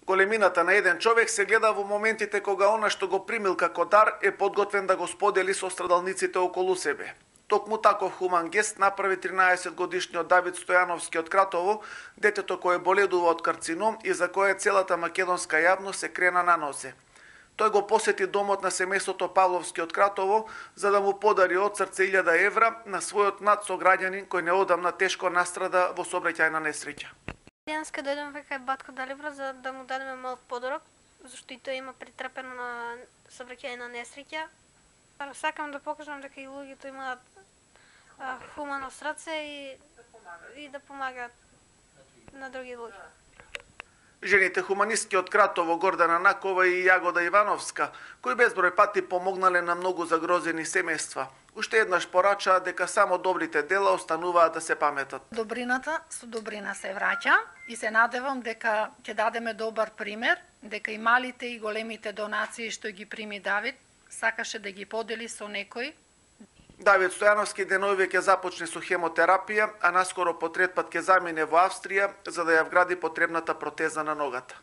Големината на еден човек се гледа во моментите кога она што го примил како дар е подготвен да го сподели со страдалниците околу себе. Токму таков хуман гест направи 13-годишниот Давид Стојановски од Кратово, детето кое боледува од карцином и за кое целата македонска јавност се крена на нозе. Тој го посети домот на семејството Павловски од Кратово за да му подари од срце 1000 евра на својот млад сограѓанин кој неодамна тешко настрада во сообраќајна несреќа. Денеска дојдем кај батко Далибра за да му дадеме мал подарок, зашто и тој има претрпено на сообраќајна несреќа. Сакам да покажам дека и луѓето имаат хумано срце и да помагаат на други луѓе. Жените хуманистки од Кратово, Гордана Накова и Јагода Ивановска, кои безброј пати помогнале на многу загрозени семејства, уште еднаш порачаа дека само добрите дела остануваат да се паметат. Добрината со добрина се враќа и се надевам дека ќе дадеме добар пример, дека и малите и големите донации што ги прими Давид, сакаше да ги подели со некој. Давид Стојановски денови ќе започне со хемотерапија, а наскоро по трет пат ќе замине во Австрија за да ја вгради потребната протеза на ногата.